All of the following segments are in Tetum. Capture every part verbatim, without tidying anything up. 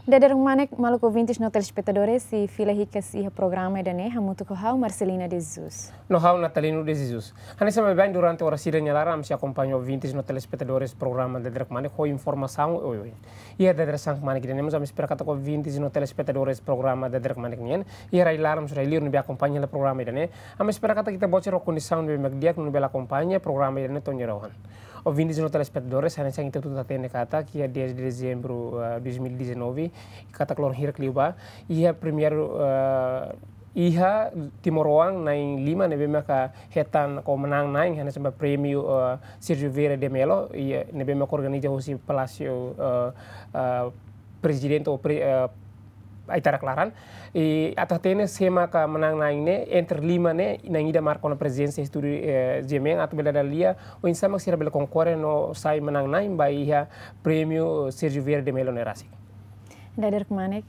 Dadeer kmanek, maluk ouvintes no telespetadores, sei fila hikas iha programa ida-ne'e, hamutuk ho ha'u Marcelina de Jesus. No ha'u Natalino de Jesus. Hanesan baibain durante oras ida nia laran, ami sei akompaña ouvintes no telespetadores programa Dadeer kmanek ho informasaun oioin. Iha dadeer-saan kmanek ida-ne'e mós ami espera katak ouvintes no telespetadores programa Dadeer kmanek nian, iha rai-laran mós rai-liur ne'ebé akompaña hela programa ida-ne'e, ami espera katak ita-boot sira ho kondisaun ne'ebé mak di'ak no bele akompaña programa ida-ne'e to'o nia rohan. Ouvintes no telespetadores, hanesan ita hotu hatene katak iha dez de dezembro, eh, dois mil e dezanove, katak loron hirak liubá, iha primeiru, eh, iha timoroan na'in-lima ne'ebé maka hetan ka manán-na'in hanesan ba prémiu, eh, Sérgio Vieira de Mello, iha ne'ebé maka organiza husi Palásiu, eh, eh, Prezidente ou pre-, eh, Aitarak laran. I atu hatene sé maka manán-na'in ne'e, entre lima ne'e, na'in ida marka ona prezidénsia estúdiu, eh, GMN, atu bele dada lia oinsá mak sira bele konkorre no sai manán-na'in ba iha prémiu Sérgio Vieira de Mello ne'e rasik. Dadeer kmanek.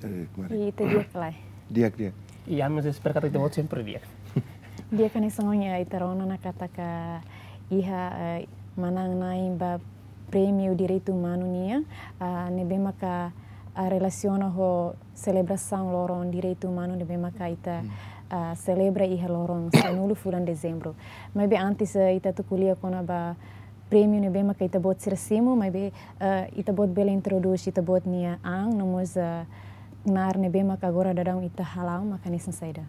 Dadeer kmanek. I ita di'ak ka lae? Di'ak, di'ak. I ami mós espera katak ita-boot sempre di'ak. Di'ak, hanesan ohin ita rona ona katak iha, eh, manán-na'in ba prémiu direitu umanu nian, ah, ne'ebé maka, ah, relasiona ho selebrasaun loron direitu umanu ne'ebé maka ita, ah, selebra iha loron sanulu fulan dezembro. Maibé antes, eh, ita atu ko'alia kona-ba prémiu ne'ebé maka ita-boot sira simu, maibé, eh, ita-boot bele introdús ita-boot nia an, no mós, eh, knaar ne'ebé maka agora daudaun ita hala'o maka hanesan saida?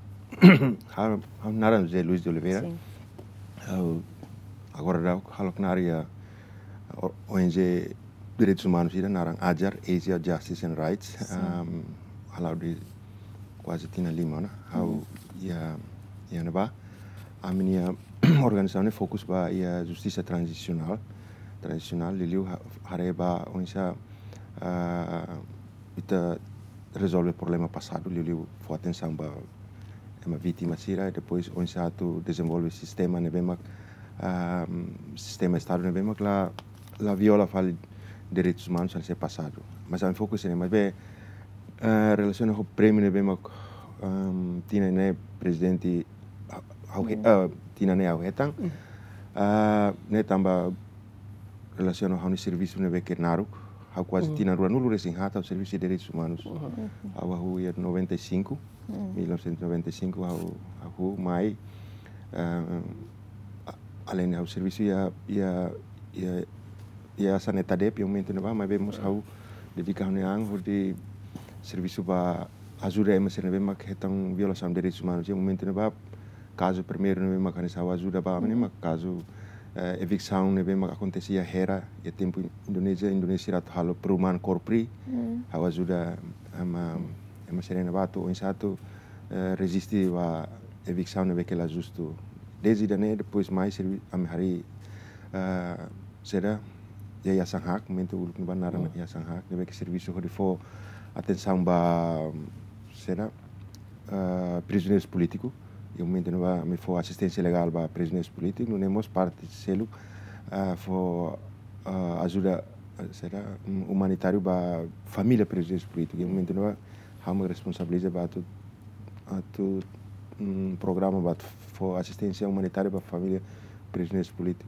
Ha'u, ha'u naran José Luis de Oliveira. Sin. Ha'u agora daudaun halo knaar iha O-, ONG Direitus Umanus ida naran AJAR, Asia Justice and Rights. Sin. Am, hala'o de'it kuaze tinan lima ona. Ha'u iha, iha ne'ebá. Ami-nia organizasaun ne'e fokus ba iha justisa tranzisionál, tranzisionál, liuliu ha-, haree ba oinsá, ah, ita rezolve problema pasadu, liuliu fó atensaun ba ema vítima sira, depois oinsá atu dezenvolve sistema ne'ebé mak, ah, sistema Estadu ne'ebé mak la, la viola fali direitus umanus hanesan pasadu. Mas ami fokus ne'e, maibé, eh, relasiona ho prémiu ne'ebé mak, ehm, tinan ne'e prezidente ha-, ha'u he-, eh, tinan ne'e ha'u hetan. Ah, ne'e tanba relasiona ho ha'u-nia servisu ne'ebé ke naruk. Ha'u kuaze tinan ruanulu resin haat ha'u servisu iha direitus umanus. Ha'u hahú iha noventa e cinco, mil novecentos e noventa e cinco ha'u, ha'u mai, eh, a-, além de ha'u servisu iha, iha, iha, iha Yayasan ETADEP iha momentu ne'ebá, maibé mós ha'u dedika ha'u-nia an hodi servisu ba ajuda ema sira ne'ebé mak hetan violasaun direitus umanus iha momentu ne'ebá. Kazu primeiru ne'ebé mak hanesan ha'u ajuda ba ami ne'e mak kazu, eh, eviksaun ne'ebé mak akontese iha Hera, iha tempu Indonézia, Indonézia atu halo perumahan Korpri, ha'u ajuda ema, ema sira ne'ebá atu oinsá atu, eh, reziste ba eviksaun ne'ebé ke la justu. Dezde ida-ne'e, depois mai servi-, ami harii, eh, saida, Yayasan HAK, momentu uluk ne'ebá naran Yayasan HAK, ne'ebé ke servisu hodi fó atensaun ba, saida, ah, prizioneirus polítiku. Iha momentu ne'ebá ami fó asisténsia legál ba prizioneirus polítiku, nune'e mós parte seluk, ah, fó, ah, ajuda, ah, saida, um, umanitáriu ba família prizioneirus polítiku. Iha momentu ne'ebá ha'u mak responsabiliza ba atu, atu, um, programa ba atu fó asisténsia umanitária ba família prizioneirus polítiku.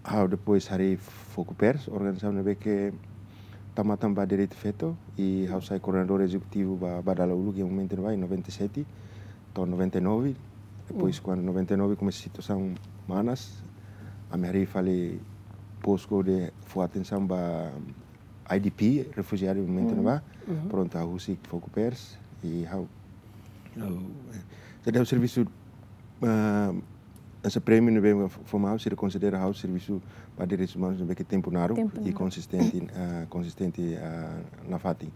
Ha'u depois harii Fokupers, organizasaun ne'ebé ke tau matan ba direitu feto, i ha'u sai koordenadór ezekutivu ba, ba dala uluk iha momentu ne'ebá, iha noventa e sete to'o noventa e nove. Depois, kuandu noventa e nove komesa situasaun manas, ami harii fali postu hodi fó atensaun ba IDP, refujiadu iha momentu ne'ebá. Prontu, ha'u husik Fokupers, i ha'u, ha'u, eh, jadi ha'u servisu, ah, hanesan prémiu ne'ebé fó mai ha'u, sira konsidera ha'u servisu ba direitus umanus ne'ebé ke tempu naruk i konsistente, ah, konsistente, ah, nafatin.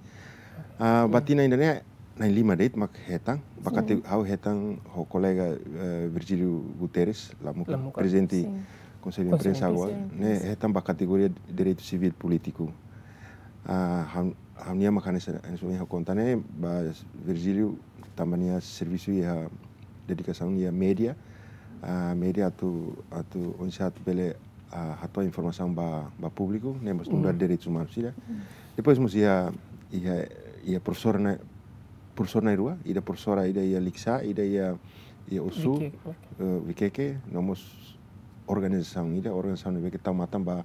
Ah, ba tinan ida-ne'e, na'in-lima de'it mak hetan, ba kate-, ha'u hetan ho kolega, eh, Virgílio Guterres, Lamuka, Lamuka, prezidente Konsellu Imprensa agora, ne'e hetan ba kategoria direitu sivíl polítiku. Ah, ha'u, ha'u-nia mak hanesan, hanesan ohin ha'u konta ne'e, ba Virgílio tanba nia servisu iha dedikasaun iha média, ah, média atu, atu oinsá atu bele, ah, hato'o informasaun ba, ba públiku, ne'e mós nu'udar direitus umanus sira. Depois mós iha, iha, iha profesora ne'e, profesora na'in-rua, ida profesora, ida iha Likisá, ida iha, iha Ossu, Vikeke, eh, Vikeke, no mós organizasaun ida, organizasaun ne'ebé ke tau matan ba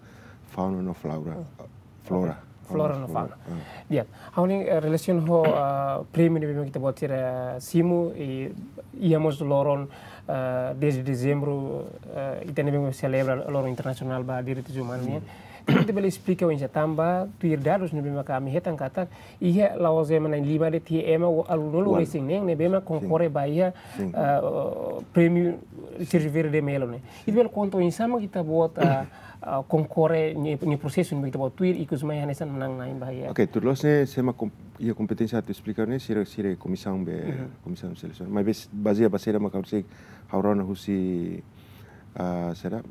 fauna no flora, flora. Flora no fauna. Di'ak, ha'u hanoin, eh, relasiona ho, eh, prémiu ne'ebé mak ita-boot sira simu, i, iha mós loron, eh, dez de dezembro, eh, ita ne'ebé mak selebra loron internasionál ba direitus umanus nian. Ita bele esplika oinsá tanba tuir dadus ne'ebé mak ami hetan katak, iha la'ós ema na'in-lima de'it, iha ema ualunulu resin-neen ne'ebé mak konkorre ba iha, eh, prémiu Sérgio Vieira de Mello ne'e. Ita bele konta oinsá mak ita-boot, eh, ah, konkorre nia, nia prosesu ne'ebé ita-boot tuir, ikus mai hanesan manán-na'in ba iha. Ok, tuir loos ne'e, sé mak kom-, iha kompeténsia atu esplika ne'e, sira, sira komisaun be, komisaun selesaun. Maibé bazeia ba saida mak ha'u sei, ha'u rona husi, ah, saida,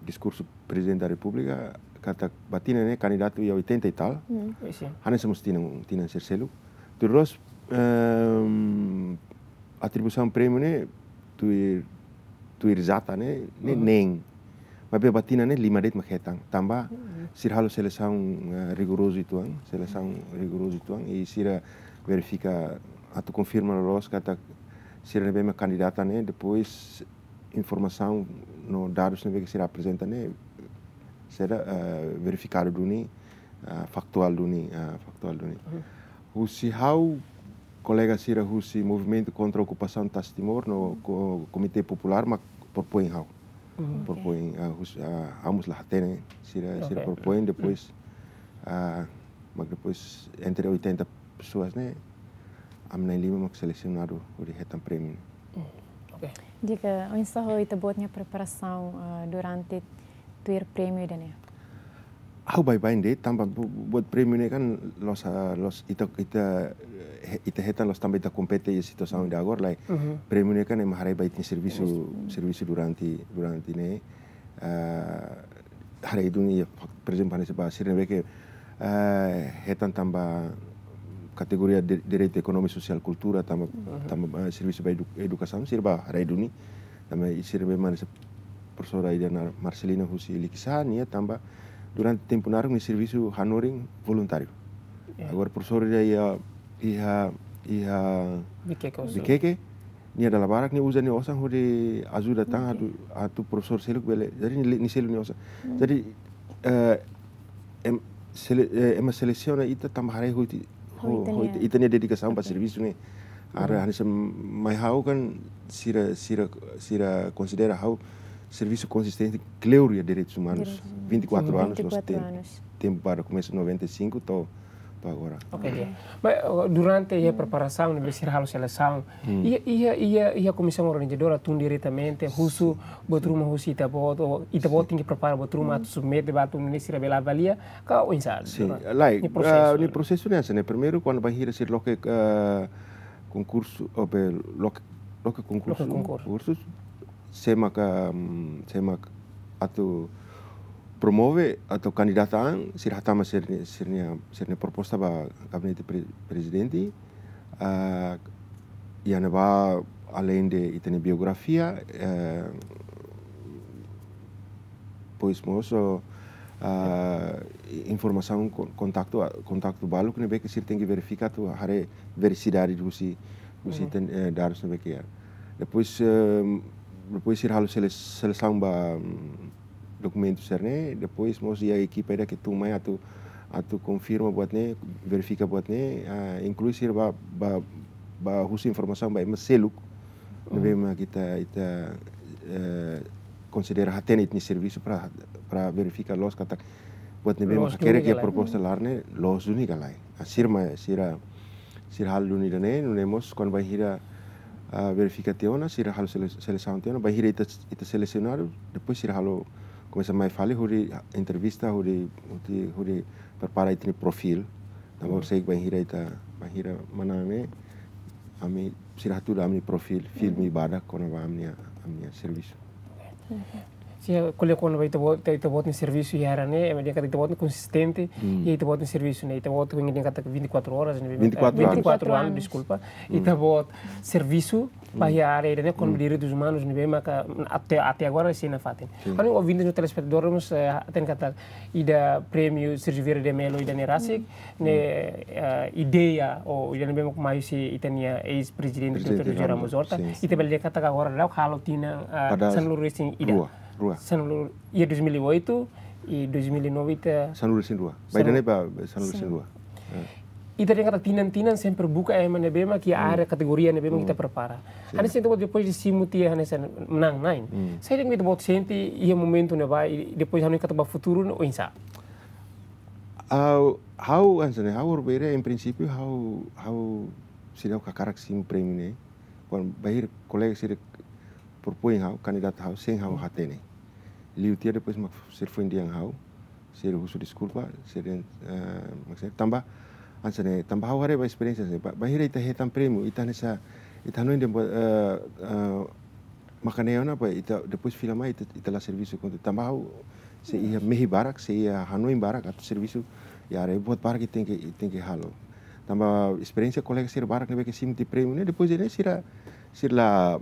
diskursu Prezidente da Repúblika, katak ba tinan ne'e kandidatu iha oitenta e tal. Hanesan mós tinan, tinan sira seluk. Tuir loos, ehm, atribuisaun prémiu ne'e, tuir, tuir data ne'e, ne'e neen. Maibé ba tinan ne'e lima de'it mak hetan. Tanba, sira halo selesaun, eh, rigorozu uitoan, selesaun rigorozu uitoan, i sira verifika atu konfirma loos katak sira ne'ebé mak kandidata ne'e, depois informasaun no dadus ne'ebé ke sira aprezenta ne'e, sira, eh, verifikadu duni, eh, faktuál duni, eh, faktuál duni. Husi ha'u, kolega sira husi Movimentu Kontra Okupasaun Tasi Timor no ko-, Komité Populár mak propoin ha'u. Propoin, ah, hus-, ah, ha'u mós la hatene, sira, sira propoin, depois, ah, mak depois entre oitenta pesoas ne'e, ami na'in-lima mak selesionadu hodi hetan prémiu. Di'ak, oinsá ho ita-boot nia preparasaun, ah, durante tuir prémiu ida-ne'e? Ha'u baibain de'it, tanba bu-, buat prémiu ne'e kan loos, ah, loos ita, ita, eh, ita hetan loos tanba ita kompete iha situasaun ida agora, lae. Prémiu ne'e kan ema haree ba ita-nia servisu, servisu durante, durante ne'e, ah, haree duni, por ezemplu, hanesan ba sira ne'ebé ke, ah, hetan tanba kategoria de, direitu ekonómiku, sosiál, kultura, tanba, tanba, ah, servisu ba edu-, edukasaun, sira bá haree duni, tanba sira ne'ebé hanesan profesora ida Marcelina husi Likisá, nia tanba durante tempu naruk nia servisu hanorin voluntáriu. Agora profesora ida iha, iha, iha Viqueque, nia dala barak nia uza nia osan hodi ajuda tan atu, atu profesór seluk bele. Jadi nia, nia selu nia osan. Jadi, eh, em, sele-, eh, ema selesiona ita tanba haree ho ita, ho, ho ita, ita-nia dedikasaun ba servisu ne'e. Agora hanesan mai ha'u kan sira, sira, sira konsidera ha'u servisu konsistente kleur iha direitus umanus. Vinte e quatro anos, loos tempu, tempu barak komesa noventa e cinco to'o, to'o agora. Ok, di'ak. Mas, eh, durante iha preparasaun ne'ebé sira halo selesaun, iha, iha, iha, iha komisaun organizadora tun diretamente husu buat ruma husi ita-boot, ou ita-boot tenke prepara buat ruma atu submete ba atu nune'e sira bele avalia, ka oinsá? Sin, lae, nia prosesu, ah, nia prosesu ne'e hanesan ne'e. Primeiru, kuandu bainhira sira loke, ah, konkursu, ou be, loke, loke konkursu, konkursu, sé maka, mm, sé maka atu promove atu kandidata an, sira hatama sira-nia, sira-nia, sira-nia proposta ba gabinete pre-, prezidente, ah, iha ne'ebá aleinde ita-nia biografia, eh, depois mós, ah, informasaun kon-, kontaktu, kontaktu balu ne'ebé ke sira tenke verifika atu haree verasidade husi, husi ten-, eh, dadus ne'ebé ke iha. Depois, eh, depois sira halo sele-, selesaun ba, mm, dokumentu sira-ne'e, depois mós iha ekipa ida ke tun mai atu, atu konfirma buat ne'e, verifika buat ne'e, ah, inklui sira bá, bá, bá husu informasaun ba ema seluk ne'ebé mak ita, ita, eh, konsidera hatene ita-nia servisu para, para verifika loos katak buat ne'ebé mak hakerek iha proposta laran ne'e loos duni ka lae. Ah, sira mai, sira, sira halo duni ida-ne'e, nune'e mós kuandu bainhira, ah, verifika tiha ona, sira halo sele-, selesaun tiha ona, bainhira ita, ita selesionadu, depois sira halo komesa mai fali hodi entrevista, hodi, hodi, hodi prepara ita-nia profil. Tanba horiseik bainhira ita, bainhira manán ne'e, ami sira hatudu ami-nia profil, filme badak kona-ba ami-nia, ami-nia servisu. Sin, ko'alia kona-ba ita-boot, ita-boot nia servisu iha área ne'e, ema dehan katak ita-boot ne'e konsistente iha ita-boot nia servisu ne'e. Ita-boot ne'e dehan katak vinte e quatro horas ne'e, vinte e quatro anos. Vinte e quatro anos, deskulpa. Ita-boot servisu ba iha área ida-ne'e, kona-ba direitus umanus ne'ebé maka até, até agora sei nafatin. Sin. Ha'u-nia ouvinte no telespetadór mós, eh, hatene katak ida prémiu Sérgio Vieira de Mello ida-ne'e rasik, ne'e, eh, ideia, ou ida ne'ebé mak mai husi ita-nia eis-prezidente Prezidente Doutór José Ramos Ramos Horta, Horta, sin, sin. Ita bele dehan katak agora daudaun halo tinan, eh, pada sanulu-resin-ida. Rua, rua. Sanulu, iha dois mil e oito, I dois mil e nove ita Sanulu-resin-rua. Sanulu. Bainhira ne'e ba sanulu-resin-rua. Ya. Ita dehan katak tinan-tinan sempre buka ema ne'ebé mak iha área kategoria ne'ebé mak ita prepara. Hanesan ita-boot depois de simu tiha hanesan manán-na'in. Saida mak ita-boot sente iha momentu ne'ebá i depois hanoin katak ba futuru ne'e oinsá? Ha'u, ha'u hanesan ne'e, ha'u Orbera, em princípio, ha'u, ha'u seidauk hakarak simu prémiu ne'e. Kuandu bainhira kolega sira propoin ha'u, kandidata ha'u, sein ha'u hatene. Liu tiha depois mak sira foin dehan ha'u, sira husu deskulpa, sira dehan, eh, mak sira tanba, hanesan ne'e, tanba ha'u haree ba esperiénsia, hanesan ne'e, ba, bainhira ita hetan prémiu, ita hanesan, ita hanoin dehan, eh, eh, maka ne'e ona ba, ita depois fila mai, ita, ita la servisu kontu. Tanba ha'u, se iha mehi barak, se iha hanoin barak, atu servisu, ya, haree buat barak ita tenke, tenke halo. Tanba esperiénsia kolega sira barak ne'ebé ke simu tiha prémiu ne'e, depois de ne'e sira, sira la,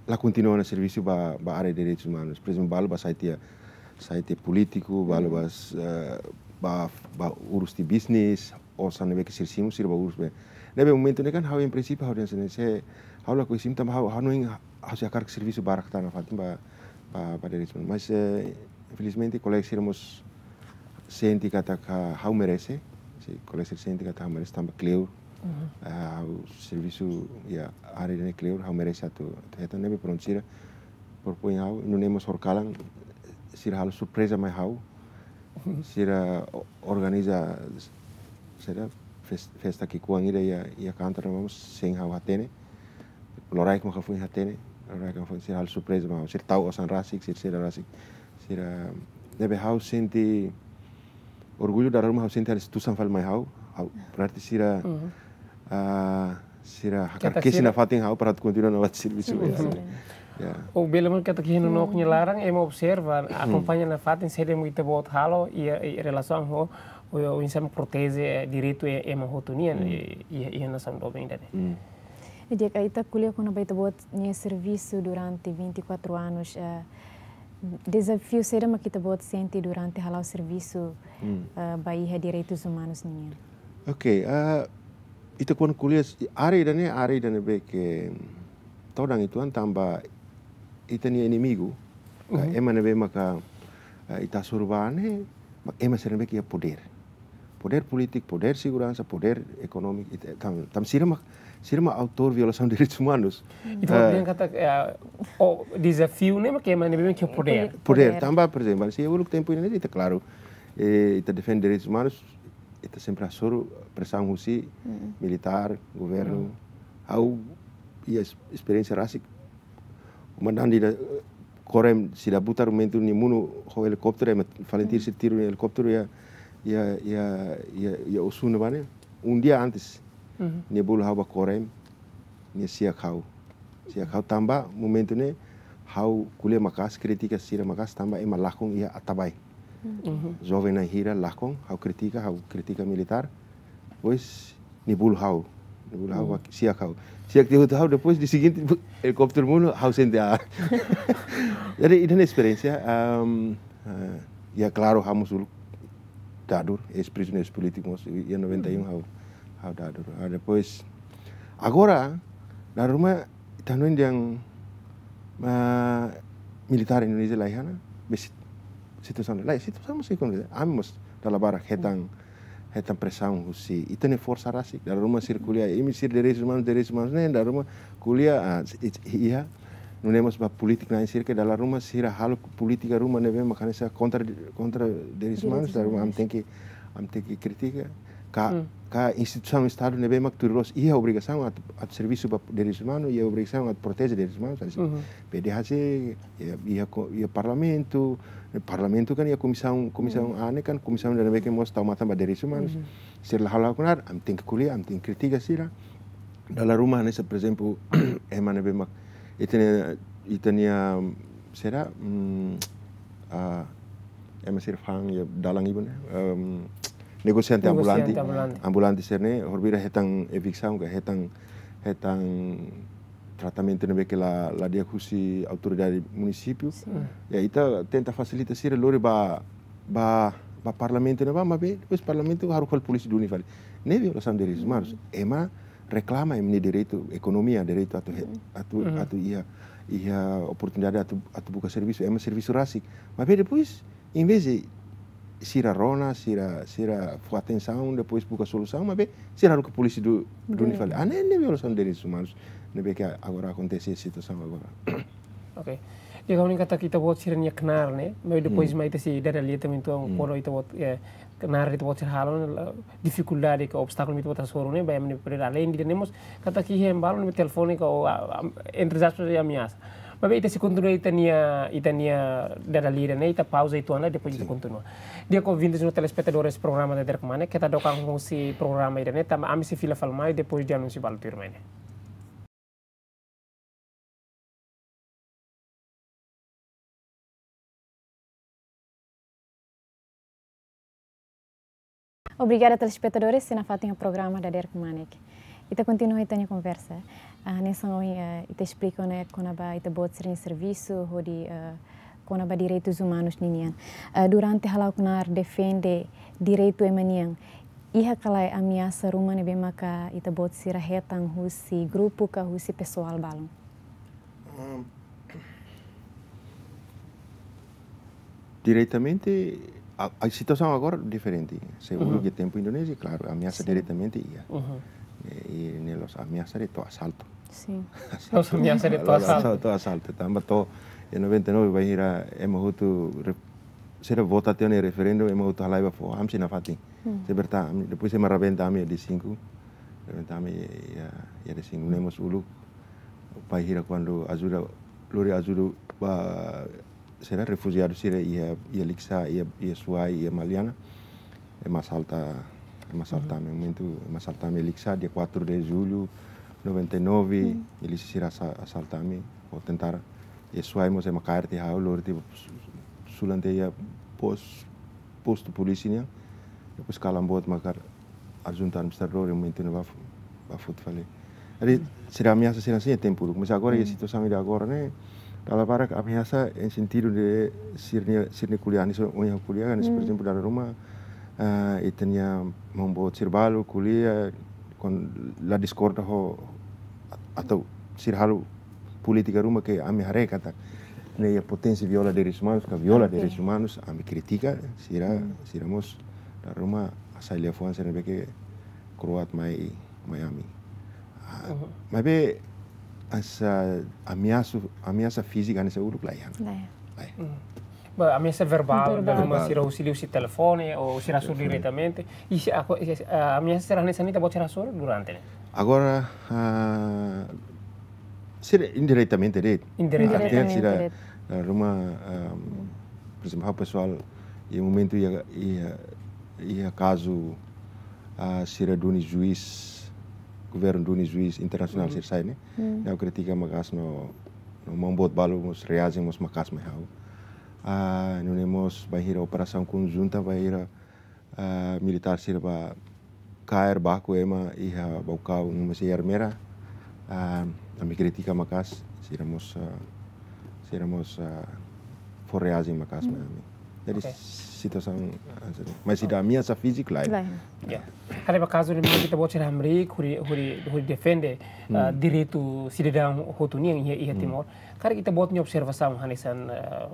la kontinua ona servisu ba, ba área direitus umanus. Por ezemplu, balu ba sai tiha, sai tiha polítiku, balu ba, eh, ba, ba urus tiha bisnis, osan ne'ebé ke sira simu, sira ba urus be. Ne'ebé momentu ne'e kan ha'u em princípio ha'u dehan hanesan ne'e, se ha'u lakohi simu tanba ha'u, ha'u hanoin ha'u sei hakarak servisu barak tan nafatin ba, ba, ba direitus umanus. Mas, eh, infelizmente, kolega sira mós sente katak ha'u merese, se kolega sira sente katak ha'u merese tanba kleur, eh, ha'u servisu iha área ne'e kleur, ha'u merese atu, atu hetan, ne'ebé prontu sira propoin ha'u, nune'e mós horikalan, sira halo surpreza mai ha'u, sira o-, organiza, sira fes-, festa ki'ikoan ida iha, iha kantor ne'ebá mós sein ha'u hatene, loraik maka foin hatene, loraik maka foin, sira halo surpreza mai ha'u, sira tau osan rasik, sira, sira rasik, sira, ne'ebé ha'u sente orgullu, dala ruma ha'u sente ha'u-nia instituisaun fali mai ha'u, ha'u, berarti sira, ah, sira hakarak kesi nafatin ha'u para atu kontinua nafatin servisu. Ya. Ya. Ou bele mós katak iha nonook nia laran, ema observa, akompaña nafatin saida mak ita-boot halo, iha, iha relasaun ho, ho, ho oinsá mak proteje, eh, direitu e-, ema hotu nian, eh, iha, iha nasaun doben ida-ne'e. Di'ak, ita ko'alia kona-ba ita-boot nia servisu durante vinte e quatro anos, eh, dezafiu saida mak ita-boot sente durante hala'o servisu, eh, ba iha direitus umanus nian? Oke, ah, ita kuandu ko'alia s-, área ida-ne'e, área ida ne'ebé ke todan uitoan tanba ita-nia inimigu, ah, ema ne'ebé maka, ah, ita hasoru ba ne'e, mak ema sira ne'ebé ke iha podér. Podér polítiku, podér seguransa, podér ekonómiku, ita, tan, tan sira mak, sira mak autór violasaun direitus umanus. Ita, eh, dehan katak, eh, o dezafiu ne'e mak ema ne'ebé ke iha podér. Podér, tanba, por ezemplu, se uluk tempu ne'e ita klaru, eh, ita defende direitus umanus, ita sempre hasoru presaun husi militár, governu. Ha'u iha es-, esperiénsia rasik. Komandante ida, eh, Korem, sira butar momentu nia monu ho helikópteru, ema FALINTIL sira tiru nia helikópteru iha, iha, iha, iha, iha Oecusse ne'ebá ne'e. Um dia antes, nia bolu ha'u ba Korem, nia siak ha'u. Siak ha'u tanba momentu ne'e, ha'u ko'alia maka'as, kritika sira maka'as tanba ema lakon iha Atabae. Joven na'in hira lakon, ha'u kritika, ha'u kritika militár. Depois, nia bolu ha'u. Nia bolu ha'u, siak ha'u. Siak tiha hotu ha'u, depois dia seguinte, helikópteru monu, ha'u sente ah. Jadi, ida-ne'e esperiénsia, ehm, eh, ya klaru, ha'u mós uluk dadur, eis-prizioneiru polítiku mós, iha noventa e um ha'u, ha'u dadur. Ah, depois, agora, dala ruma, ita hanoin dehan, ah, militár Indonézia la iha ona, be sit-, situasaun la iha, situasaun mós ekonomia. Ami mós dala barak hetan, hetan presaun husi ita-nia forsa rasik. Dala ruma sira ko'alia, imi sira direitus umanus, direitus umanus ne'e, dala ruma ko'alia, ah, i-, i-, iha, nune'e mós ba polítiku na'in sira ke dala ruma sira halo polítika ruma ne'ebé mak hanesan kontra, kontra direitus umanus, dala ruma ami tenke, ami tenke kritika. Ka, ka instituisaun Estadu ne'ebé mak tuir loos iha obrigasaun atu, atu servisu ba direitus umanus, iha obrigasaun atu proteje direitus umanus, hanesan PDHC, iha, iha ko-, iha Parlamentu, Parlamentu kan iha komisaun, komisaun A ne'e kan, komisaun ida ne'ebé ke mós tau matan ba direitus umanus. Sira la halo kona, ami tenke ko'alia, ami tenke kritika sira. Dala ruma hanesan, por ezemplu, ema ne'ebé mak, ita-nia, ita-nia, sira, mm, ah, ema sira fa'an iha dalan ibun ne'e, em, negosiante ambulante. Negosiante ambulante. Ambulante sira-ne'e, horibainhira hetan eviksaun ka hetan, hetan tratamentu ne'ebé ke la, la di'ak husi autoridade munisípiu. Ya, ita tenta fasilita sira lori ba, ba, ba Parlamentu ne'ebá, maibé, depois Parlamentu haruka fali polísia duni fali. Ne'e violasaun direitus umanus. Ema reklama ema-nia direitu ekonomia, direitu atu he-, atu, atu iha, iha oportunidade atu, atu buka servisu, ema servisu rasik. Maibé depois, Em vez de sira rona, sira, sira fó atensaun, depois buka solusaun, maibé sira haruka polísia du-, duni fali. Ah, ne'e, ne'e violasaun de direitus umanus. Ne'ebé ke agora akontese situasaun agora. Ok. Di'ak, ha'u hanoin katak ita-boot sira-nia knaar ne'e, maibé depois mai ita sei dada lia tanba entaun, kuandu ita-boot, eh, knaar ita-boot sira halo, la, difikuldade ka obstákulu mak ita-boot hasoru ne'e, ba ami-nia prioridade. Além de ne'e mós, katak iha ema balu ne'e telefone ka, o, a, a, entre aspas, ameasa. Maibé ita sei kontinua ita-nia, ita-nia dada lia ne'e, ita pauza uitoan, depois ita kontinua. Di'ak, ouvintes no telespetadores programa Dader Kmanek, keta dook an husi programa ida-ne'e, tanba ami sei fila fali mai, depois de anúnsiu balu tuirmai ne'e. Obrigada, telespetadores, sira nafatin ho programa Dader Kmanek. Ita kontinua ita-nia konversa. Ah, hanesan ohin, eh, ita esplika ona kona-ba ita-boot sira-nia servisu, hodi, eh, kona-ba direitus umanus ninian. Eh, durante hala'o knaar defende direitu ema nian, iha ka lae ameasa ruma ne'ebé maka ita-boot sira hetan husi grupu ka husi pesoál balun? Hum. Diretamente, a, a situasaun agora diferente. Se uluk iha tempu Indonézia, klaru, ameasa diretamente iha. Eh, i ne'e la'ós ameasa de'it, to'o asaltu. Sin. La'ós ameasa de'it, to'o asaltu. To'o asaltu. Tanba to'o, iha noventa e nove bainhira ema hotu re-, sira vota tiha ona iha referendu, ema hotu halai bá foho, ami sei nafatin. Sei berta, ami, depois ema rabenta ami iha D cinco. Rabenta ami iha, iha D cinco. Nune'e mós uluk, bainhira kuandu ajuda, lori ajuda ba sira refujiadu sira iha, iha Likisá, iha, iha Suai, iha Maliana. Ema asalta, ema asalta ami, momentu ema asalta ami Likisá, dia quatro de julho noventa e nove, milísia sira asa-, asalta ami, ho tentara. Iha Suai mós ema kaer tiha ha'u, lori tiha su-, sulan tiha iha pos-, postu polísia nian. Depois kalan boot mak ha'u asuntu administradór, iha momentu ne'ebá fó, bá foti fali. Jadi, sira ameasa sira-ne'e iha tempu uluk. Mas agora, iha situasaun ida agora ne'e, dala barak ameasa iha sentidu de sira-nia, sira-nia ko'alia, hanesan ohin ha'u ko'alia, hanesan, por ezemplu, dala ruma, ah, ita-nia maun boot sira balu ko'alia, kuandu la diskorda ho, atau sira halo polítika ruma ke ami haree katak ne'e iha poténsia viola direitus umanus, ka viola direitus umanus, ami kritika, sira, sira mós dala ruma hasai liafuan sira ne'ebé ke kroat mai, mai ami. Ah, maibé hanesan ameasa, ameasa fízika hanesan uluk laiha. Laiha. Laiha. Ba, ameasa verbál, verbál, dala ruma sira husi liuhusi telefone, ou sira hasoru diretamente. I se ako, i se, ah, ameasa sira hanesan ne'e ita-boot sira hasoru durante ne'e? Agora, ah, sira indiretamente de'it. Indiretamente. Artinya sira, de'it. Ah, dala ruma, ah, por ezemplu, ha'u pesoál, iha momentu iha, iha, iha kazu, ah, sira duni juís, governu duni juís internasionál sira sai ne'e. Ha'u kritika maka'as no, no maun boot balu mós reaji mós maka'as mai ha'u. Ah, nune'e mós bainhira operasaun konjunta, bainhira, ah, militár sira bá kaer baku ema iha Baucau, no mós iha Ermera, ah, ami kritika maka'as, sira mós, ah, sira mós, ah, fó reaji maka'as mai ami. Jadi, oke, situasaun, ah, mas ida ameasa fízika laiha. Laiha. Ya. Haree ba kazu ne'e mak ita-boot sira hamriik, hodi, hodi, hodi defende, ah, direitu sidadaun hotu nian iha, iha Timor. Karik ita-boot nia observasaun hanesan, eh,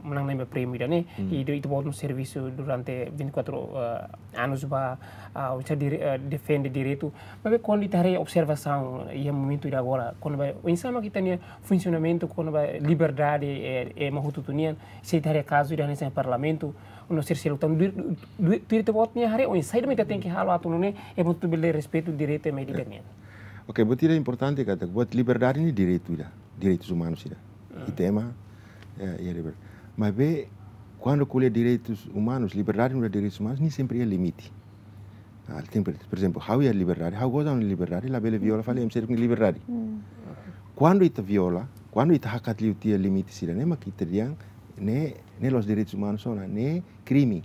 manán-na'in ba prémiu ida-ne'e, i ita-boot nia servisu durante vinte e quatro, eh, anos ba, ah, oinsá dire-, eh, defende direitu. Maibé kuandu ita haree observasaun iha momentu ida agora, kona-ba oinsá mak ita-nia funsionamentu, kona-ba liberdade, eh, eh, ema hotu-hotu nian, se ita haree kazu ida hanesan parlamentu, no sira seluk tan, du-, du-, tuir ita-boot nia haree, oinsá mak ita tenke halo atu nune'e ema hotu bele respeitu direitu ema ida nian. Ok, buat ida importante katak, buat liberdade ne'e direitu ida, direitus umanus ida. Ita ema, eh, iha liberdade. Maibé, kuandu ko'alia direitus umanus, liberdade no direitus umanus, ne'e sempre iha limite. Ah, tem, por, por ezemplu, ha'u iha liberdade, ha'u goza ha'u-nia liberdade, labele viola fali ema seluk nia liberdade. Kuandu ita viola, kuandu ita hakat liu tiha limite sira-ne'e, mak ita dehan, ne'e, ne'e la'ós direitus umanus ona, ne'e krime,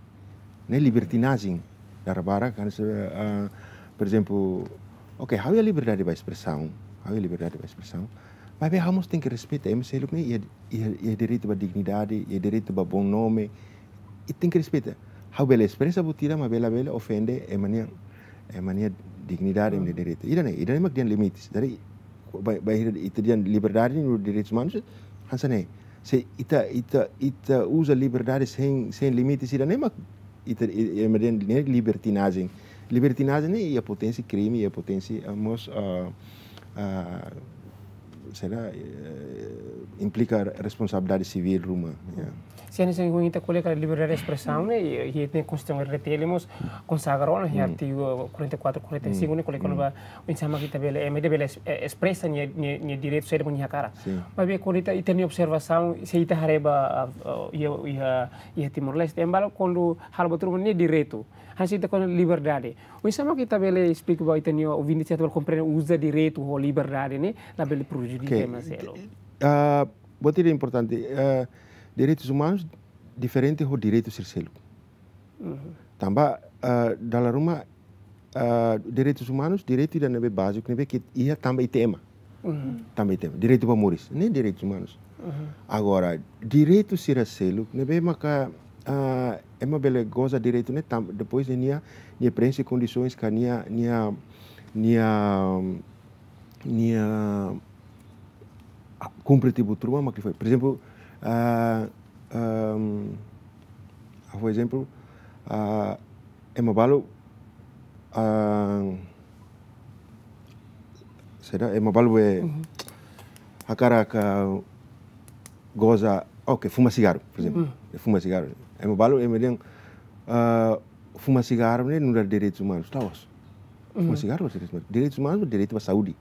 ne'e libertinajen. Dala barak kan se, ah, por ezemplu, ok, ha'u iha liberdade ba espresaun, ha'u iha liberdade ba espresaun. Maibé ha'u mós tenke respeita ema seluk ne'e iha, iha, iha direitu ba dignidade, iha direitu ba bom nome, i tenke respeita. Ha'u bele espresa buat ida, maibé labele ofende ema nia, ema nia dignidade, ema nia direitu. Ida-ne'e, ida-ne'e mak dehan limites. Jadi, ba, ba, ita dehan liberdade no direitus umanus, hanesan ne'e. Se ita, ita, ita uza liberdade sein, sein limite sira-ne'e mak ita, i, i, ema dehan ne'e libertinajen. Libertinajen ne'e iha potensi krime, iha potensi, ah, mós, ah, ah, será, eh, implika responsabilidade sivíl ruma, ya. Se hanesan ohin ita ko'alia katak liberdade de espresaun ne'e, i, i iha Konstituisaun R T L mós konsagra ona, iha artigu quarenta e quatro, quarenta e cinco ne'e ko'alia kona-ba oinsá mak ita bele, ema ida bele es-, eh, espresa nia, nia, nia direitu saida mak nia hakarak. Sin. Maibé kuandu ita, ita-nia observasaun, se ita haree ba, ah, ah, iha, iha, iha Timor-Leste, ema balu kuandu halo buat ruma nia direitu. Hanesan ita ko'alia liberdade. Oinsá mak ita bele esplika ba ita-nia ouvinte, se atu bele komprende uza direitu ho liberdade ne'e, labele prejudika ema seluk. Ah, buat ida importante, ah, direitus umanus diferente ho direitu sira seluk. Tanba, ah, dala ruma, ah, direitus umanus, direitu ida ne'ebé báziku, ne'ebé ke iha tanba ita ema. Tanba ita ema. Direitu ba moris, ne'e direitus umanus. Agora, direitu sira seluk, ne'ebé maka, ah, ema bele goza direitu ne'e tanba, depois de nia, nia preenxe kondisoens ka nia, nia, nia, nia, ah, kumpre tiha buat ruma mak fó. Por ezemplu, ah, ehm, ha'u fó ezemplu, ah, ema balu, ah, saida, ema balu be hakarak, ah, goza, oke, fuma sigarru, por ezemplu. Fuma sigarru. Ema balu, ema dehan, ah, fuma sigarru ne'e nu'udar direitus umanus, la'ós. Fuma sigarru, direitus umanus. Direitus umanus, direitu ba saúde.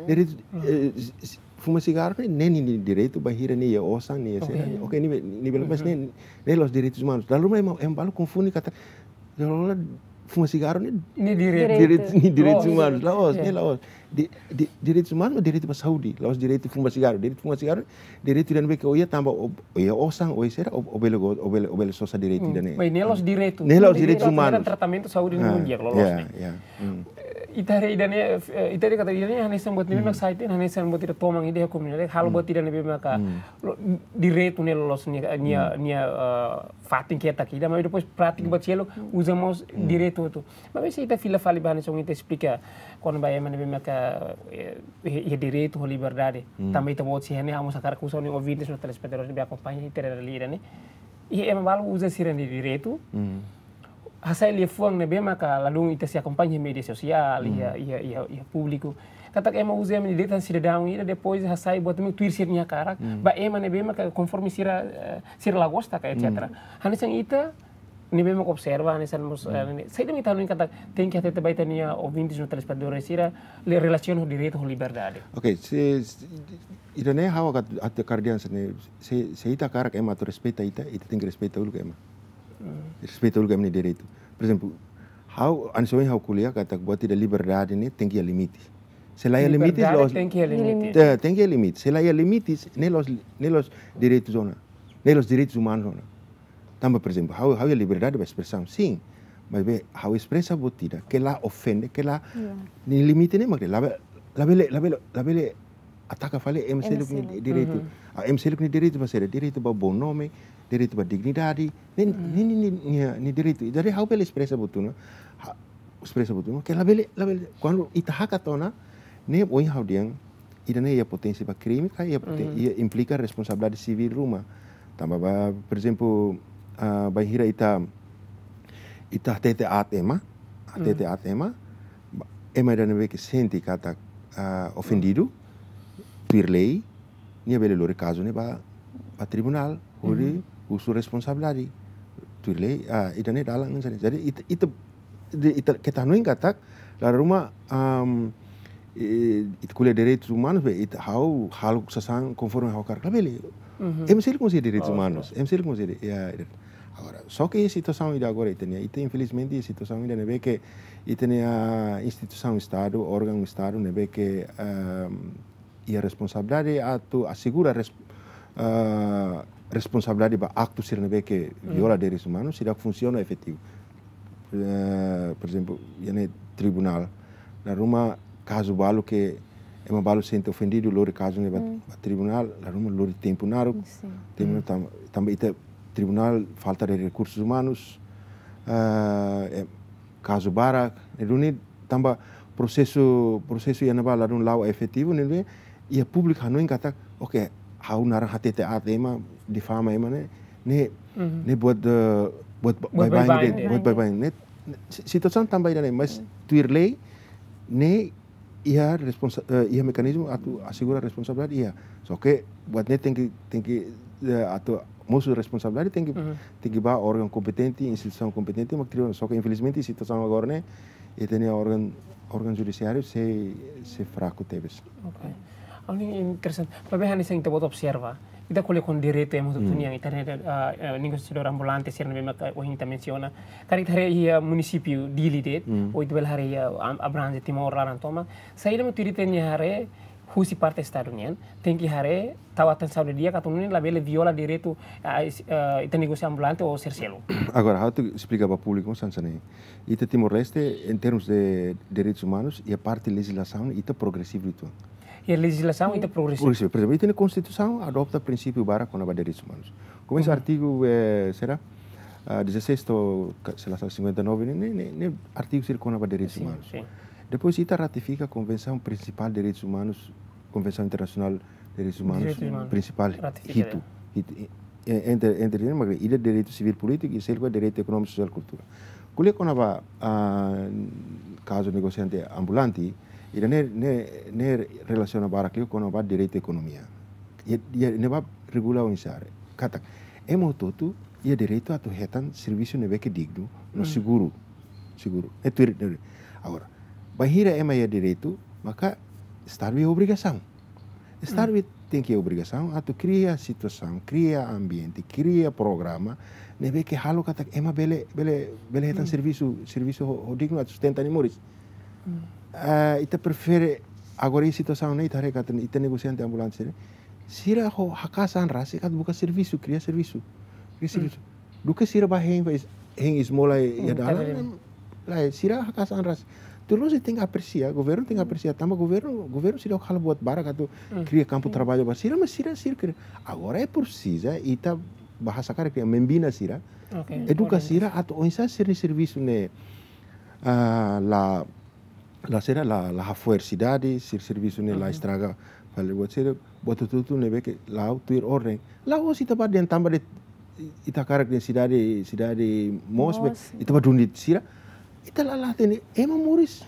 Direitu, eh, s-, s-, fuma sigarru ne'e, ne'e nia direitu bainhira nia iha osan, nia iha saida. Oke, nia be-, nia bele, mas ne'e, ne'e la'ós direitus umanus. Dala ruma ema, ema balu konfunde katak, dala ruma fuma sigarru ne'e nia direitu, nia direitus umanus, la'ós, ne'e la'ós. Di-, di-, direitus umanus, direitu ba saúde, la'ós direitu fuma sigarru. Direitu fuma sigarru, direitu ida ne'ebé ke o iha tanba o, o iha osan, o iha saida, o, o bele go-, o bele, o bele sosa direitu ida-ne'e. Maibé ne'e la'ós direitu. Ne'e la'ós direitus umanus. Tratamentu saúde ne'e mundial, loloos ne'e. Eh, ita haree ida-ne'e, eh, ita haree katak ida-ne'e hanesan buat ne'ebé mak sai tiha, hanesan buat ida toman ida iha komunidade, halo buat ida ne'ebé maka lo-, direitu ne'e loloos nia, nia, nia, eh, fatin ketak ida, mas depois prátika buat seluk uza mós direitu hotu. Maibé se ita fila fali ba hanesan ita esplika kona-ba ema ne'ebé maka, eh, iha, iha direitu ho liberdade. Tanba ita-boot sira-ne'e, ha'u mós hakarak husu ba ouvintes no telespetadores ne'ebé akompaña ita-nia lia ne'e. Iha ema balu uza sira-nia direitu. Hasai liafuan ne'ebé maka ladún ita sei akompaña iha média sosiál, iha, iha, iha, iha públiku. Katak ema uza ema nia direitu hanesan sidadaun ida, depois hasai buat ne'ebé tuir sira-nia hakarak. Ba ema ne'ebé maka konforme sira, eh, sira la gosta ka, et cetera. Hanesan ita, ne'ebé mak observa, hanesan mós, eh, ne'e, saida mak ita hanoin katak tenke hatete ba ita-nia ouvintes no telespetadores sira, le-, relasiona ho direitu ho liberdade. Oke, se, se, ida-ne'e ha'u hakarak, hakarak dehan hanesan ne'e, se, se ita hakarak ema atu respeita ita, ita tenke respeita uluk ema. Respeita uluk ema nia direitu. Por ezemplu, ha'u, hanesan ohin ha'u ko'alia katak buat ida liberdade ne'e tenke iha limite. Se la iha limite, liberdade la'ós, tenke iha limite. Te-, tenke iha limite. Se la iha limite, ne'e la'ós, ne'e la'ós direitus ona. Ne'e la'ós direitus umanus ona. Tanba, por ezemplu, ha'u, ha'u iha liberdade ba espresaun, sin. Maibé ha'u espresa buat ida ke la ofende, ke la, nia limite ne'e mak labele, labele, labele, labele ataka fali ema seluk nia direitu. Ah, ema seluk nia direitu ba saida, direitu ba bom nome, direitu ba dignidade, ne'e, ne'e, ne'e, ne'e, nia, nia direitu. Jadi ha'u bele espresa buat ne'e, ha'u espresa buat ne'e, ke labele, labele, kuandu ita hakat ona, ne'e ohin ha'u dehan, ida-ne'e iha potensi ba krime, ka iha poten-, iha implika responsabilidade sivíl ruma. Tanba ba, por ezemplu, ah, bainhira ita, ita hatete aat ema, hatete aat ema, ba, ema ida ne'ebé ke sente katak, ah, ofendidu, tuir lei, nia bele lori kazu ne'e ba, ba tribunál, hodi husu responsabilidade. Tuir lei, ah, ida-ne'e dalan hanesan ne'e. Jadi, ita, ita, de, ita, keta hanoin katak, dala ruma, am, eh, ita ko'alia direitus umanus, be, ita ha'u, halo sasán konforme ha'u hakarak, labele. Ema seluk mós iha direitus umanus, ema seluk mós iha, ya, ida. Agora, só ke situasaun ida agora ita-nia, ita infelizmente situasaun ida ne'ebé ke, ita-nia instituisaun Estadu, órgaun Estadu, ne'ebé ke, am, iha responsabilidade atu asegura res-, ah, responsabilidade ba aktu sira ne'ebé ke viola direitus umanus, seidauk funsiona efetivu. Eh, por ezemplu, iha ne'e tribunál, dala ruma kazu balu ke ema balu sente ofendidu, lori kazu ne'e ba, ba tribunál, dala ruma lori tempu naruk, tempu naruk tam-, tanba ita tribunál falta de rekursus umanus, ah, eh, kazu barak, ne'e duni tanba prosesu, prosesu iha ne'ebá ladún la'o efetivu, ne'ebé iha públiku hanoin katak, oke, ha'u naran hatete aat ema, difama ema ne'e, ne'e, ne'e buat, eh, buat ba-, baibain de'it, buat baibain ne'e. Si-, situasaun tanba ida-ne'e, mas tuir lei ne'e iha responsa-, eh, iha mekanizmu atu asegura responsabilidade iha. Só ke buat ne'e tenke, tenke, eh, atu mosu responsabilidade tenke, tenke ba órgaun kompetente, instituisaun kompetente, mak kria. Só ke infelizmente situasaun agora ne'e, ita-nia órgaun, órgaun judisiáriu sei, sei fraku tebes. Ok. Ha'u hanoin interesante. Maibé hanesan ita-boot observa, ita ko'alia kona-ba direitu ema hotu-hotu nian, ita haree, ah, eh, negosiadór ambulante sira ne'ebé mak ohin ita mensiona. Karik ita haree iha munisípiu Dili de'it, ou ita bele haree iha, ah, abrange Timor laran tomak. Saida mak tuir ita-nia haree husi parte Estadu nian, tenke haree, tau atensaun didi'ak atu nune'e labele viola direitu, ah, is-, ah, ita negosiadór ambulante ou sira seluk. Agora, ha'u atu esplika ba públiku hanesan ne'e. Ita Timor-Leste, em termos de direitos humanos, iha parte lejizlasaun ita progresivu uitoan. Iha lejizlasaun ita progresivu. Progresivu. Por ezemplu, ita-nia Konstituisaun adota prinsípiu barak kona-ba direitos humanos. Komesa artigu, eh, será? Ah, dezasseis to'o, ka-, se la sala, cinquenta e nove, ne'e, ne'e, ne'e artigu sira kona-ba direitos humanos. Sin. Depois ita ratifika Konvensaun Prinsipál Direitus Umanus, Konvensaun Internasionál Direitus Umanus prinsipál, ratifika hitu, hitu, eh, entre, entre, ida direitu sivíl polítiku i seluk direitu ekonómiku, sosiál, kultura. Ko'alia kona-ba, ah, kazu negosiante ambulante, ida-ne'e, ne'e, ne'e relasiona barak liu kona-ba direitu ekonomia. Iha, iha ne'ebá regula oinsá. Katak, ema hotu-hotu iha direitu atu hetan servisu ne'ebé ke dignu no seguru. Seguru. Ne'e tuir, ne'e tuir. Agora, bainhira ema iha direitu, maka Estadu iha obrigasaun. Estadu tenke iha obrigasaun atu kria situasaun, kria ambiente, kria programa ne'ebé ke halo katak ema bele, bele, bele hetan servisu, servisu ho, ho dignu atu sustenta nia moris. Ah, ita prefere agora iha situasaun ne'e, ita haree katak ita negosiante ambulante sira, sira ho haka'as an rasik atu buka servisu, kria servisu, kria servisu. Duké sira bá hein, bá hein esmola iha dalan, lae, sira haka'as an rasik. Tuir loloos ita tenke apresia, governu tenke apresia, tanba governu, governu sira halo buat barak atu kria kampu traballu ba sira, mas sira, sira kria. Agora é presiza ita bá hasa'e karik, kria, membina sira, eduka sira atu oinsá sira-nia servisu ne'e, ah, la, la sira la, la hafo'er sidade, sira servisu ne'e la estraga fali buat sira, buat hotu-hotu ne'ebé ke la'o tuir orden. La'ós ita bá dehan tanba de'it ita hakarak dehan sidade, sidade moos, be, ita bá duni sira. Ita la, la hatene ema moris.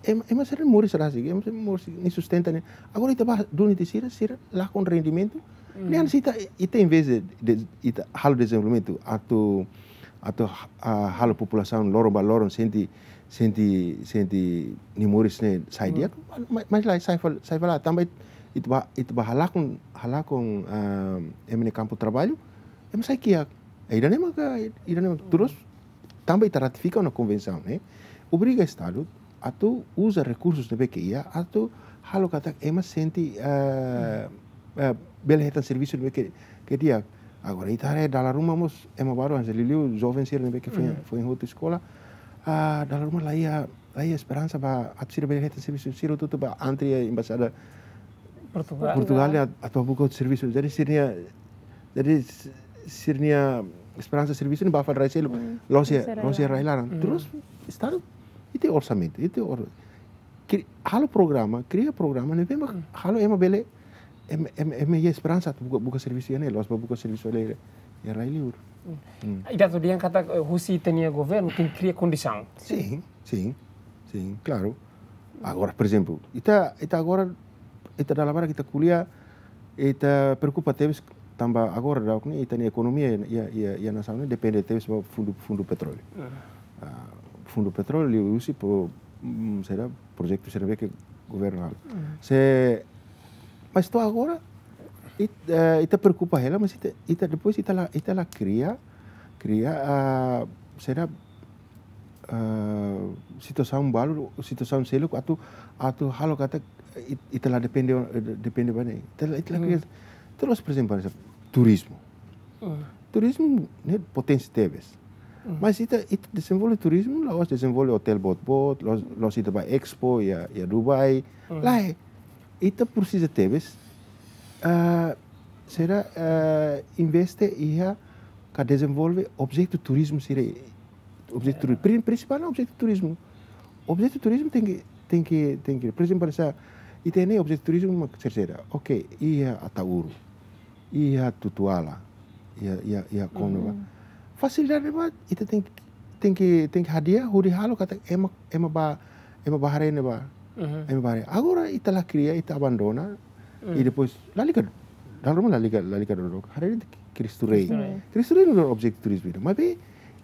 Ema, ema sira moris rasik, ema sira moris, nia sustenta ne'e. Agora ita bá duni sira, sira lakon rendimentu. Ne'e hanesan ita, ita em vez de, de, ita halo dezenvolvimentu atu, atu, ah, halo populasaun loron ba loron sente, sente, sente nia moris ne'e sai di'ak, ma-, mas lae, sai fali, sai fali, tanba ita, ita bá, ita bá halakon, halakon, ah, ema nia kampu traballu, ema sai kiak. Ida-ne'e maka, ida-ne'e maka, tuir loloos, tanba ita ratifika ona konvensaun ne'e, obriga Estadu atu uza rekursus ne'ebé ke iha atu halo katak ema sente, eh, eh, bele hetan servisu ne'ebé ke, ke di'ak. Agora ita haree dala ruma mós ema balu hanesan liuliu joven sira ne'ebé ke foin, foin hotu eskola. Ah, dala ruma la iha, la iha esperansa ba atu sira bele hetan servisu, sira hotu-hotu bá antre iha embaixada Portugal. Portugal ne'e atu, atu buka outro servisu. Jadi sira-nia, jadi s-, sira-nia esperansa servisu ne'e bá fali rai seluk. La'ós iha, la'ós iha rai laran. Tuir loloos Estadu, ita-nia orsamentu, ita-nia or-, kri-, halo programa, kria programa ne'ebé mak halo ema bele, ema, ema, ema iha esperansa atu buka, buka servisu iha ne'e, la'ós bá buka servisu iha, iha rai liur. Ita atu dehan katak, eh, husi ita-nia governu tenke kria kondisaun. Sin, sin, sin, klaru. Agora, por ezemplu, ita, ita agora, ita dala barak ita ko'alia, ita preokupa tebes tanba agora daudaun ne'e ita-nia ekonomia iha, iha, iha nasaun ne'e depende tebes ba fundu, fundu petróleu. Ah, fundu petróleu liuhusi pro-, mm, saida, projetu sira ne'ebé ke governu halo. Se, mas to'o agora, it-, eh, ita preokupa hela, mas ita, ita depois ita la, ita la kria, kria, ah, saida, eh, situasaun balu, situasaun seluk atu, atu halo katak it-, ita la depende, eh, depende ba ne'e. Ita la, ita la kria. Tuir loloos, por ezemplu, hanesan turizmu. Turizmu ne'e potensi tebes. Mas ita, ita dezenvolve turizmu, la'ós dezenvolve hotel boot-boot, la'ós, la'ós ita bá expo iha, iha Dubai. Lae, ita presiza tebes, ah, saida, ah, investe iha ka dezenvolve objetu turizmu sira, objetu turi-, prin-, prinsipál ne'e objetu turizmu. Objetu turizmu tenke, tenke, tenke, por ezemplu, hanesan ita-nia objetu turizmu mak saida, saida. Ok, iha Ataúru. iha Tutuala, iha, iha, iha Komno ba. Fasilidade ne'ebá, ita tenke, tenke, tenke hadi'a, hodi halo katak ema, ema bá, ema bá haree ne'ebá, ema bá haree. Agora ita la kria, ita abandona, i depois, lalika, dala ruma lalika, lalika dodok. Haree Cristo Rei. Cristo Rei. Cristo Rei nu'udar objetu turizmu ida. Maibé,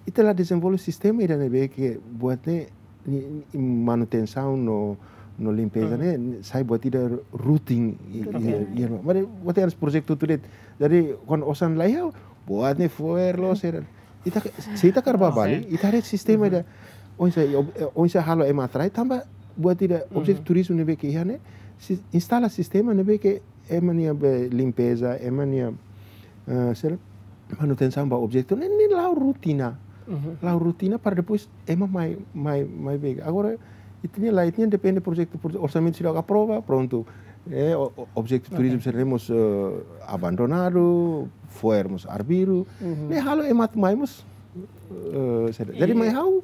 ita la dezenvolve sistema ida ne'ebé ke buat ne'e, ni, ni manutensaun no, no limpeza ne'e, sai buat ida rutin, i, i, i, i, maibé buat ne'e projetu tuir de'it. Jadi, kuandu osan la iha, buat ne'e fo'er loos sira. Ita, se ita kar bá Bali, ita haree sistema ida. Oinsá, i ob-, eh, oinsá halo ema atrai, tanba buat ida objetu turizmu ne'ebé ke iha ne'e, si-, instala sistema ne'ebé ke ema nia be limpeza, ema nia, eh, sira, manutensaun ba objetu ne'e, ne'e la'o rutina. La'o rutina para depois ema mai, mai, mai be. Agora, ita-nia lae, ita-nia depende projetu, proje-, orsamentu sira aprova, prontu. Eh, o-, o-, objetu turizmu sira ne'e mós, eh, abandonadu, fo'er mós arbiru. Ne'e halo ema atu mai mós, eh, sira. Jadi, mai ha'u,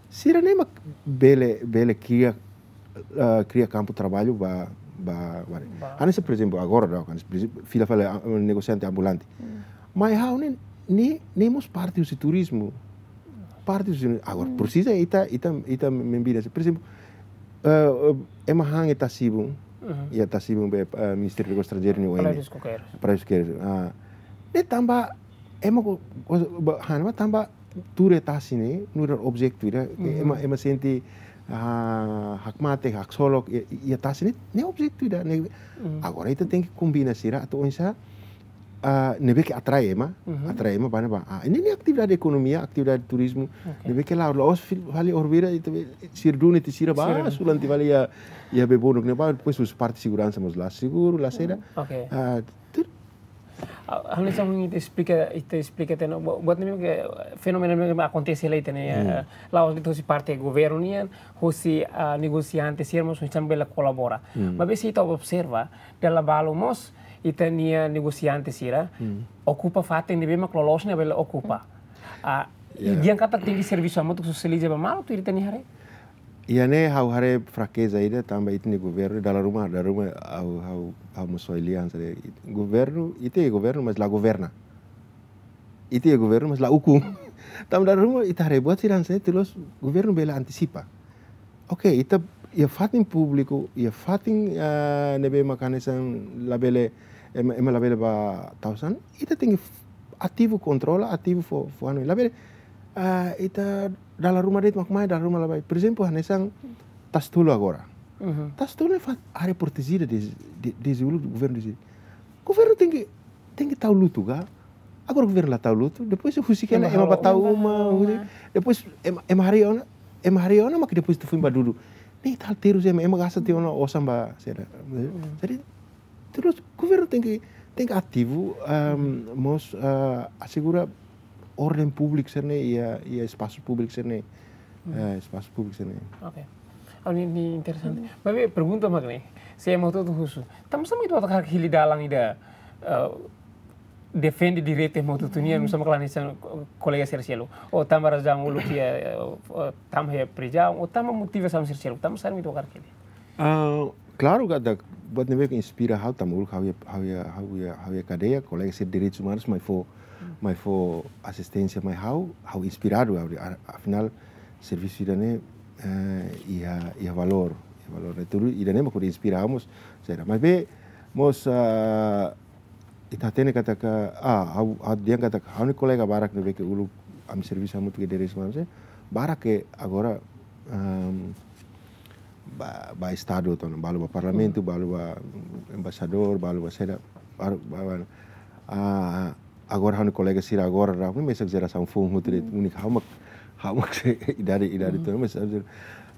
sira ne'e mak bele, bele kria, eh, kria kampu traballu ba, ba, ba. Hanesan, por ezemplu, agora, kan, por ezemplu, fila fali, ah, negosiante ambulante. Mai ha'u ne'e, ne'e, ne'e mós parte husi turizmu. Parte husi, agora, presiza ita, ita, ita membida. Por ezemplu, eh, eh, ema han iha Tasibun, iha Tasibun be, eh, Ministériu Negósius Estranjeirus nia oin. Palásiu Coqueiros. Palásiu Coqueiros. Ah, ne'e tanba, ema ko, ko, ba, han, ema tanba, tuur iha tasi ne'e, nu'udar objetu ida, ema, ema sente, ah, hakmatek, haksolok, iha, iha tasi ne'e, ne'e objetu ida, ne'e. Agora ita tenke kombina sira, atu oinsá, ah, ne'ebé ke atrai ema, atrai ema, bá ne'ebá. Ah, ne'e, ne'e atividade ekonomia, atividade turizmu, ne'ebé ke la, la'ós fil-, fali orbira, ita be, sira duni, ita sira bá, sulan tiha fali iha, iha bebonuk ne'ebá, depois husi parte seguransa mós la seguru, la seda. Ah, tuir Ah, ha'u-nia sama ita esplika, ita esplika tiha ona, bu-, buat ne'e ke fenómenu ne'e akontese hela ita-nia, eh, la'ós de'it husi parte governu nian, husi, ah, negosiante sira mós husi bele kolabora. Maibé se ita observa, dala balu mós ita-nia negosiante sira okupa fatin ne'ebé mak loloos ne'e bele okupa. Ah, i dehan katak tenke servisu hamutuk sosializa ba malu tuir ita-nia haree. Iha ne'e ha'u haree frakeza ida tanba ita-nia governu, dala ruma, dala ruma ha'u, ha'u, ha'u mós soe lian sira. Governu, ita iha governu, mas la governa. Ita iha governu, mas la ukun. Tanba dala ruma ita haree buat sira hanesan ne'e, tuir loos governu bele antisipa. Oke, ita iha fatin públiku, iha fatin, ah, ne'ebé mak hanesan labele, ema, ema labele bá tau sasán, ita tenke f-, ativu kontrola, ativu fó, fó anu. Labele, ah, ita dala ruma de'it mak mai, dala ruma la bá. Por ezemplu, hanesan Tasitolu agora. Tasitolu ne'e fa-, área protejida dezde, de, dezde uluk governu dezde. Governu tenke, tenke tau lutu ka? Agora governu la tau lutu, depois husik hela ema bá tau uma, husik, depois ema, ema haree ona, ema haree ona mak depois ita foin bá dudu. Ne'e ita halo terus ema, ema gasta tiha ona osan ba, sira. Jadi, terus governu tenke, tenke ativu, ehm, mós, eh, asegura orden públiku sira-ne'e iha, iha espasu públiku sira-ne'e. Eh, espasu públiku sira-ne'e. Oke. Oh, ne'e, ne'e interesante. Maibé pergunta mak ne'e, se ema hotu-hotu husu, tanba sá mak ita hotu hakarak hili dalan ida, eh, defende direitu ema hotu-hotu nian, nusá mak la hanesan kolega sira seluk. Ou tanba razaun uluk iha, eh, tanba iha prizaun, ou tanba motivasaun sira seluk, tanba sá mak ita hakarak hili. Ah, klaru katak buat ne'ebé ke inspira ha'u tanba uluk ha'u iha, ha'u iha, ha'u iha, ha'u iha kadeia, kolega sira direitus umanus mai fó, mai fó asisténsia mai ha'u, ha'u inspiradu, ha'u dehan, a-, afinál servisu ida-ne'e, eh, iha, iha valór, iha valór. Ne'e tuir ida-ne'e mak hodi inspira ha'u mós, sira. Maibé mós, ah, ita hatene katak, ah, ha'u, ha'u dehan katak ha'u-nia kolega barak ne'ebé ke uluk ami servisu hamutuk iha direitus umanus, barak ke agora, ehm, bá, bá estadu to'o ona, balu bá parlamentu, balu bá embaixadór, balu bá seda, balu bá, bá, ah, agora ha'u-nia kolega sira agora, la, mesak jerasaun foun hotu de'it, úniku ha'u mak, ha'u mak sei idade, idade to'o ona, mas,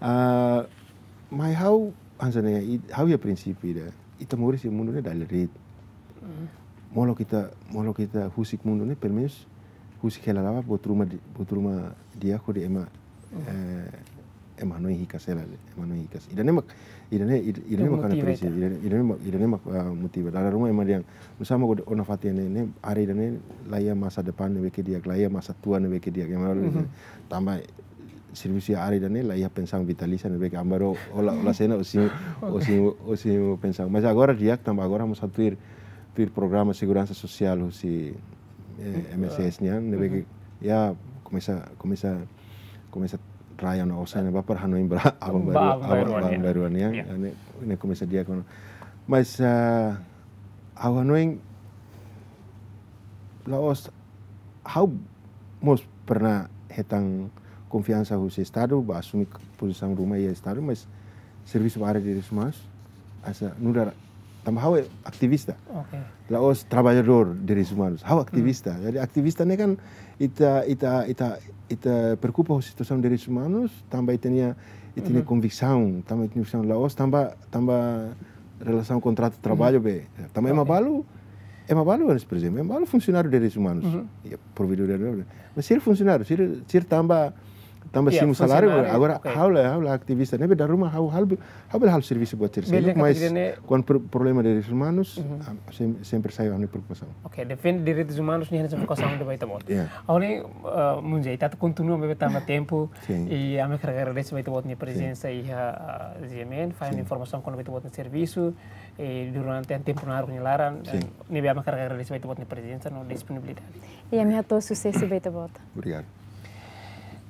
ah, mai ha'u, hanesan ne'e, i-, ha'u iha prinsípiu ida, ita moris iha mundu ne'e dala ruma de'it. Molok ita, molok ita husik mundu ne'e, pelumenus husik hela la'o, buat ruma di-, buat ruma di'ak hodi ema, eh, ema hanoin hikas hela, ema hanoin hikas. Ida-ne'e mak, ida-ne'e, ida-, ida-ne'e mak hanoin motiva prinsip, ita. Ida-ne'e, ida-ne'e mak, ida-ne'e mak, ah, motiva. Dala ruma ema dehan, nusá mak ona fatin ne'e, ne'e, área ida-ne'e, la iha masa depan ne'ebé ke di'ak, la iha masa tua ne'ebé ke di'ak, ema. Tanba servisu iha área ida-ne'e, la iha pensaun vitalísia ne'ebé ke amba ró, ó la, ó la sena, ó simu, ó simu, ó simu pensaun. Mas agora di'ak tanba agora mós atu ir, tuir programa seguransa sosiál husi, eh, M S S nian, ne'ebé ke, ya, komesa, komesa, komesa rai ona osan ne'e ba para hanoin ba aban bainrua, aban bainrua nian. Ne'e, ne'e komesa di'ak ona. Mas, ah, ha'u hanoin la'ós, ha'u mós pernah hetan konfiansa husi Estadu, ba asumi pozisaun ruma iha Estadu, mas servisu ba área direitus umanus, hanesan nu'udar, tanba ha'u ativista. Oke. La'ós traballadór direitus umanus, ha'u ativista. Jadi ativista ne'e kan ita, ita, ita, ita preokupa ho situasaun direitus umanus, tanba ita-nia, ita-nia konviksaun, tanba ita-nia konviksaun, la'ós tanba, tanba relasaun kontratu traballu be. Tanba ema balu, ema balu, por ezemplu, ema balu funsionáriu direitus umanus. Ya, provedór direitus umanus. Mas sira funsionáriu, sira, sira tanba, tanba simu saláriu, agora ha'u la, ha'u la ativista, ne'ebé dala ruma ha'u, ha'u, ha'u bele halo servisu buat sira seluk, mas kuandu pro-, problema direitus umanus, ah, sem-, sempre sai ha'u-nia preokupasaun. Oke, defende direitus umanus ne'e hanesan fokasaun ida ba ita-boot. Ya. Agora, eh, Munzé, ita atu kontinua maibé tanba tempu, i ami hakarak agradese ba ita-boot nia prezensa iha, ah, G M N, fahe informasaun kona-ba ita-boot nia servisu, eh, durante tempu naruk nia laran, eh, ne'ebé ami hakarak agradese ba ita-boot nia prezensa no disponibilidade. I ami hato'o susesu ba ita-boot. Obrigadu.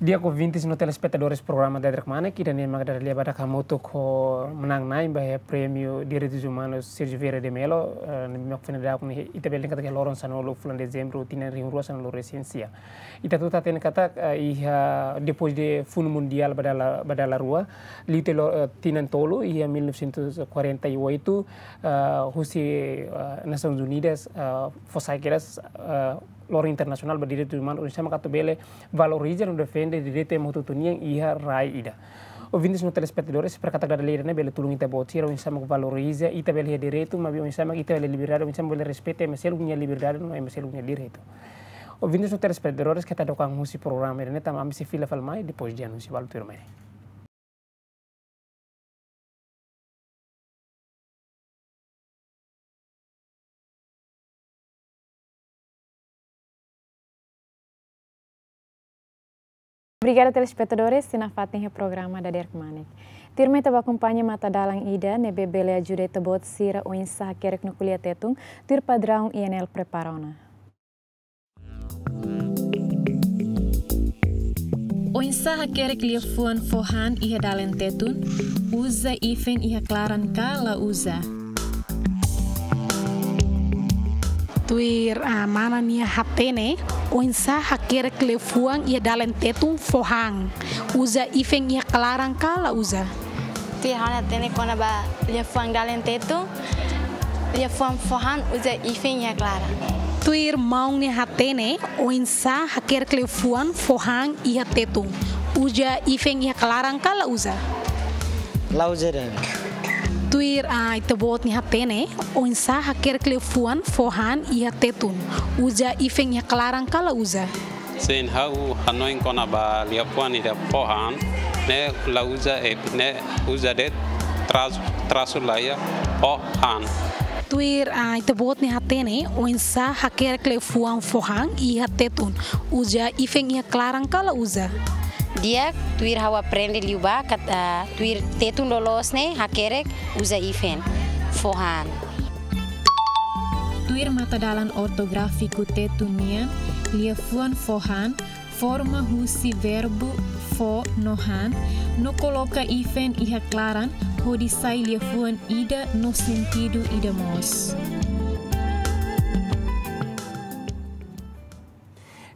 Di'ak ouvintes no telespetadores programa Dadeer Kmanek, ida-ne'e mak dada lia badak hamutuk ho manán-na'in ba iha Prémiu Direitus Umanus Sérgio Vieira de Mello, eh, ne'ebé mak foin dadauk ne'e, ita bele dehan katak iha loron sanulu fulan Dezembru, tinan rihun rua sanulu resin sia. Ita hotu hatene katak, eh, iha depois de Funu Mundiál ba dala, ba dala rua, liu tiha lo-, eh, tinan tolu, iha mil novecentos e quarenta e oito, eh, husi, eh, Nasoins Unidas, eh, fó sai kedas, eh, loron internasionál ba direitus umanus, oinsá mak atu bele valoriza no defende direitu ema hotu-hotu nian iha rai ida. Ouvintes no telespetadores, espera katak dada lia ida-ne'e bele tulun ita-boot sira, oinsá mak valoriza, ita bele iha direitu, maibé oinsá mak ita bele liberdade, oinsá mak bele respeita ema seluk nia liberdade no ema seluk nia direitu. Ouvintes no telespetadores, keta hadook an husi programa ida-ne'e, tanba ami sei fila fali mai, depois de anúnsiu balu tuirmai. Obrigada, telespetadores, sira nafatin iha programa Dadeer Kmanek. Tuirmai ita bá akompaña matadalan ida ne'ebé bele ajuda ita-boot sira oinsá hakerek no ko'alia Tetun, tuir padraun I N L prepara ona. Oinsá hakerek liafuan fó han iha dalen Tetun, uza ifen iha klaran ka la uza? Tuir, ah, mana nia hatene, oinsá hakerek liafuan iha dalen Tetun fó han, uza ifen iha klaran ka la uza? Tuir ha'u-nia hatene kona-ba liafuan dalen Tetun, liafuan fó han uza ifen iha klaran. Tuir maun nia hatene, oinsá hakerek liafuan fó han iha Tetun, uza ifen iha klaran ka la uza? La uza de'it. Tuir, ah, ita-boot nia hatene, oinsá hakerek liafuan fó han iha Tetun, uza ifen iha klaran ka la uza? Sin, ha'u hanoin kona-ba liafuan ida fó han, ne'e la uza, eh, ne'e uza de'it, trasu, trasu laiha, fó han. Tuir, ah, ita-boot nia hatene, oinsá hakerek liafuan fó han iha Tetun, uza ifen iha klaran ka la uza? Di'ak, tuir ha'u aprende liubá, kat-, ah, tuir Tetun loloos ne'e, hakerek, uza ifen, fó han. Tuir matadalan ortográfiku Tetun nian, liafuan fó han forma husi verbu fó no han, no koloka ifen iha klaran, hodi sai liafuan ida no sentidu ida mós.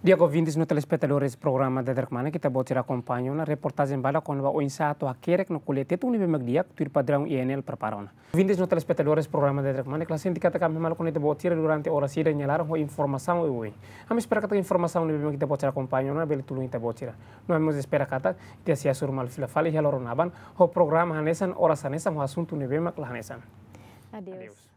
Di'ak ouvintes no telespetadores programa Dadeer Kmanek, ita-boot sira akompaña ona reportajen badak kona-ba oinsá atu hakerek no ko'alia Tetun ne'ebé mak di'ak, tuir padraun I N L prepara ona. Ouvintes no telespetadores programa Dadeer Kmanek, la sente katak ami maluk ne'e ita-boot sira durante oras ida nia laran ho informasaun oioin. Ami espera katak informasaun ne'ebé mak ita-boot sira akompaña ona bele tulun ita-boot sira. No ami mós espera katak ita sei hasoru malu fila fali iha loron aban ho programa hanesan, oras hanesan, ho asuntu ne'ebé mak la hanesan. Adeus. Adeus.